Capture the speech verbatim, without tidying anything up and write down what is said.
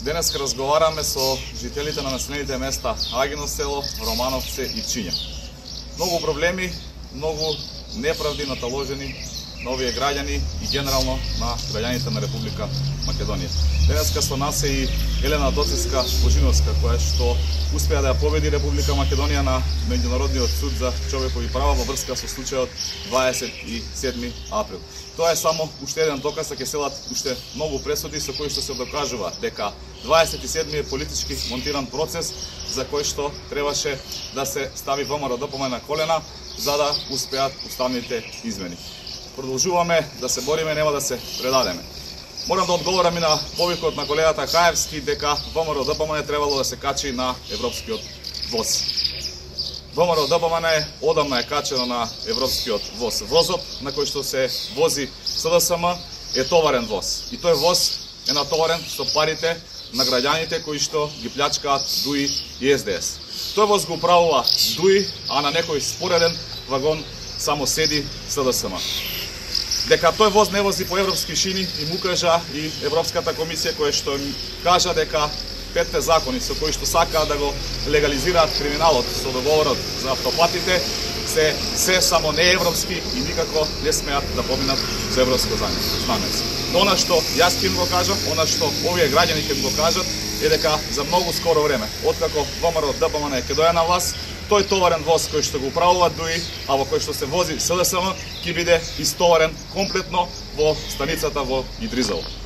Денеска разговараме со жителите на населените места Агино село, Романовце и Пчиња. Многу проблеми, многу неправди наталожени на овие граѓани и генерално на граѓаните на Република Македонија. Денеска со нас е и Елена Доцевска-Божиновска, која што успеа да ја победи Република Македонија на Меѓународниот суд за човекови права во врска со случајот дваесет и седми април. Тоа е само уште еден доказ, а ќе селат уште многу пресуди со кои што се докажува дека дваесет и седми е политички монтиран процес за кој што требаше да се стави ВМРО-ДПМН на колена за да успеат уставните измени. Продолжуваме да се бориме, нема да се предадеме. Морам да одговорам и на повикот на колегата Каевски дека ВМРО-ДПМН требало да се качи на европскиот воз. ВМРО-ДПМН е одамна е качено на европскиот воз. Возот на кој што се вози СДСМ е товарен воз. И тој воз е натоварен со парите на граѓаните кои што ги плячкаат ДУИ и СДС. Тој воз го управува ДУИ, а на некој спореден вагон само седи СДСМ. Дека тој воз не вози по европски шини и му кажа и Европската комисија која што кажа дека петте закони со кои што сакаат да го легализираат криминалот со договорот за автопатите се се само неевропски и никако не смеат да поминат за европско знаменце. Но она што јас ќе го кажам, она што овие граѓани ќе го кажат е дека за многу скоро време, откако ВМРО-ДПМН ќе дојде на власт, тој товарен воз кој што го управува ДУИ, а во кој што се вози СДСМ, ќе биде истоварен комплетно во станицата во Идризово.